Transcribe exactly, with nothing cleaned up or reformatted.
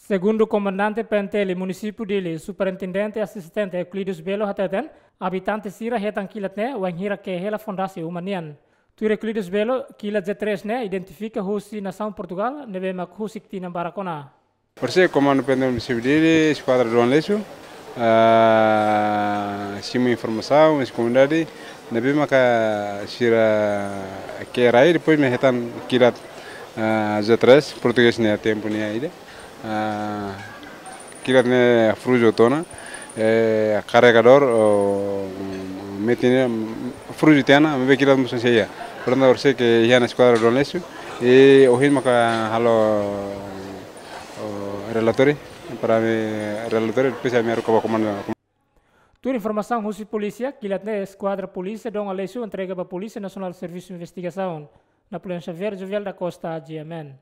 Segundu Komandante P N T L Munisípiu Dili, Superintendente Asistente Euclides Belo hateten, abitante sira hetan kilat ne'e wainhira ke'e hela fondasi uma nian. Tuir Euclides Belo, kilat Z três ne'e identifika husi nasaun Portugal, ne'ebé mak husik tinan barak ona. Orsida Komandu P N T L Munisípiu Dili, Eskuadra Dom Aleixo, ah, simu informasaun, husi komunidade, ne'ebé maka sira ke'e rai, depois mak hetan kilat, ah, Z três, portugés nian tempu nian ida. Ah, kilat ne'e fuju tiha ona, eh, karregadór, oh, metin ne'e fuju tiha ona, maibé kilat mós sei iha. Portantu, orsida iha ona Eskuadra Dom Aleixo, i ohin maka halo, oh, relatóriu, para ami relatóriu, depois ami haruka ba komandu. Tuir informasaun husi polísia, kilat ne'e Eskuadra Polísia Dom Aleixo entrega ba Polísia Nasionál Servisu Investigasaun. Napoleão Xavier, Jovial da Costa, G M N.